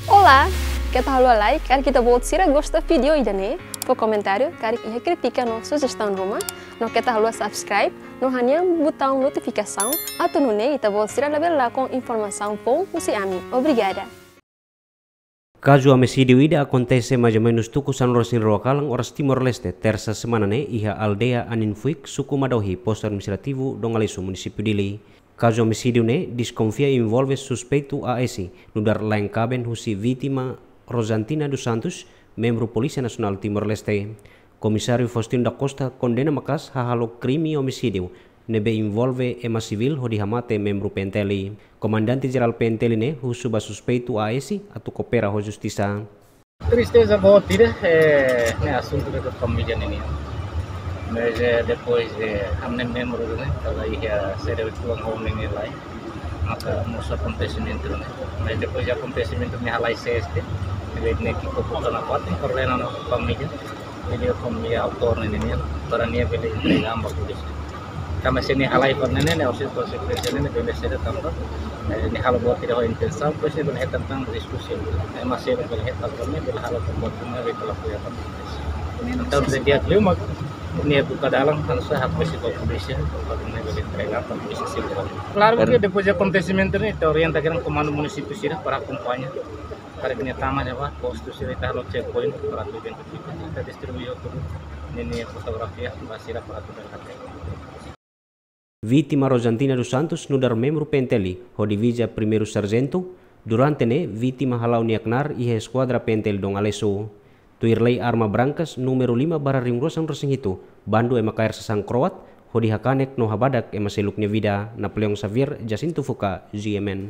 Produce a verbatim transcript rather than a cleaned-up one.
Olá, keta haluha like, karik ita-boot sira gosta vídeo ida-ne'e, fó komentáriu, karik iha krítika no sujestaun ruma, no keta haluha subscribe, no hanehan butaun notifikasaun, atu nune'e ita-boot sira labele lakon informasaun foun husi ami. Obrigada. Kazu omisídiu ida akontese mais ou menus tuku sanulu-resin-rua kalan oras Timor-Leste, tersa semana ne'e, iha aldeia Aninfuik, suku Madohi, postu administrativu Dom Aleixo, munisípiu Dili. Kazu omisídiu ne'e deskonfia envolve suspeitu A S, nu'udar laen-kaben husi vítima Rosantina dos Santos, membru Polísia Nasionál Timor-Leste. Komisáriu Faustino da Costa kondena maka'as hahalok krime omisídiu ne'ebé envolve ema sivíl hodi hamate membru P N T L. Komandante Jerál P N T L ne'e husu ba suspeitu A S atu koopera ho justisa. Tristeza boot ida, eh, ne'e asuntu de família ne'e nian. Mas, eh, depois, eh, ami-nia membru ne'e, kala iha sede uang home ne'e lai, maka mosu akontesimentu ne'e. Mas depois de akontesimentu ne'e halai C S T, ne'e ki'ik ho buka nafatin, koordena ho família, vídeo família autór ne'e nian, para nia bele entrega ba polísia. Tanba se nia halai fali ne'e, ne'e orsida konsekuénsia ne'e bele sede tanba, eh, nia halo buat ida ho intensaun, depois nia bele hetan tan diskusi. Ema seluk bele hetan tan, nia bele halo buat ida ne'ebé kala apoia tan. Entaun, se dia kelima, nia buka dalan, harus hakbesik ba polísia, para nia bele entrega ba polísia sira. Klaru ke depois de akontesimentu ne'e, ita orienta katak komandu munisípiu sira para akompaña, para nia tama ne'ebá, postu sira ita halo checkpoint, para atu identifika, ita distribui hotu ninia fotografia ba sira para atu bele hatene. Vítima Rosantina dos Santos nu'udar membru P N T L ho diviza Primeiru Sarjentu, durante ne'e vítima hala'o nia knaar iha eskuadra P N T L Dom Aleixo. Tuir lei arma brankas númeru lima barra rihun rua sanulu-resin-hitu, bandu ema kaer sasán kroat, hodi hakanek no habadak ema seluk nia vida. Napoleão Xavier, Jacinto Fuca, G M N.